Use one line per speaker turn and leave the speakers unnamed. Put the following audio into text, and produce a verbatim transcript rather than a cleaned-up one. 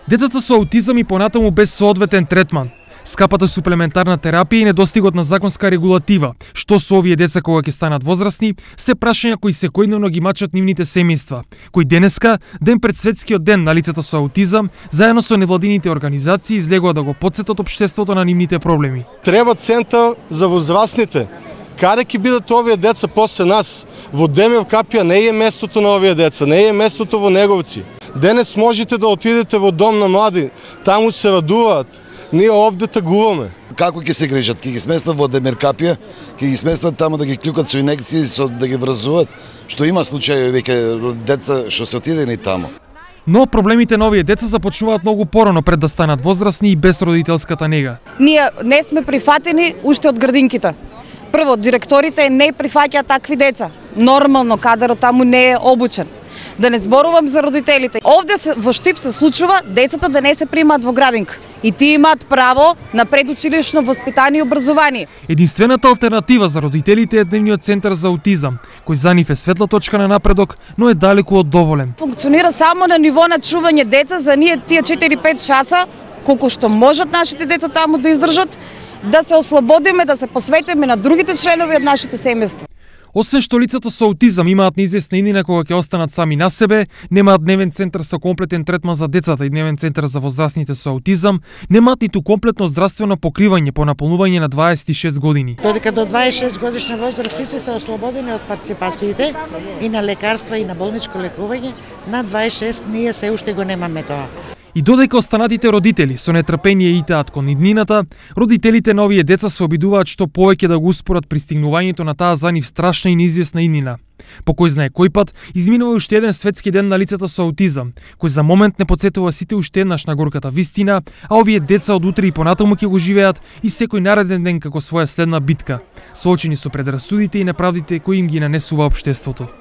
Децата со аутизам и понатаму без соодветен третман, скапата суплементарна терапија и недостигот на законска регулатива, што со овие деца кога ќе станат возрастни, се прашања кои секојдневно ги мачат нивните семејства, кои денеска, ден пред светскиот ден на лицата со аутизам, заедно со невладините организации излегува да го потсетат општеството на нивните проблеми.
Треба центар за возрастните. Каде ќе бидат овие деца после нас? Во Демев капија не е местото на овие деца, не е местото во Неговци. Денес можете да отидете во дом на млади, таму се радуваат. Ние овде тагуваме.
Како ќе се грижат? Ќе ги сместат во Демеркапија, ќе ги сместат таму да ги клюкат со инекции, со да ги вразуват, што има случаи веќе деца што се отидени таму.
Но проблемите на овие деца започнуваат многу порано пред да станат возрастни и без родителската нега.
Ние не сме прифатени уште од градинките. Прво, директорите не прифаќаат такви деца. Нормално кадрот таму не е обучен. Да не зборувам за родителите. Овде се, во Штип се случува децата да не се примаат во градинка. И тие имаат право на предучилишно воспитание и образование.
Единствената алтернатива за родителите е дневниот центар за аутизам, кој за нив е светла точка на напредок, но е далеку од доволен.
Функционира само на ниво на чување деца за ние тие четири-пет часа, колку што можат нашите деца таму да издржат, да се ослободиме, да се посветиме на другите членови од нашите семејства.
Освен што лицата со аутизам имаат неизвестна иднина кога ќе останат сами на себе, немаат дневен центар со комплетен третман за децата и дневен центар за возрастните со аутизам, немаат ниту комплетно здравствено покривање по наполнување на дваесет и шест години.
Додека до дваесет и шест годишна возраст сите се ослободени од партиципациите и на лекарства и на болничко лекување, на дваесет и шест ние се уште го немаме тоа.
И додека останатите родители со нетрпение итаат кон иднината, родителите на овие деца се обидуваат што повеќе да го успорат пристигнувањето на таа за нив страшна и неизвестна иднина. По кој знае кој пат, изминува уште еден светски ден на лицата со аутизам, кој за момент не потсетува сите уште еднаш на горката вистина, а овие деца од утре и понатаму ќе го живеат и секој нареден ден како своја следна битка, соочени со предрасудите и неправдите кои им ги нанесува општеството.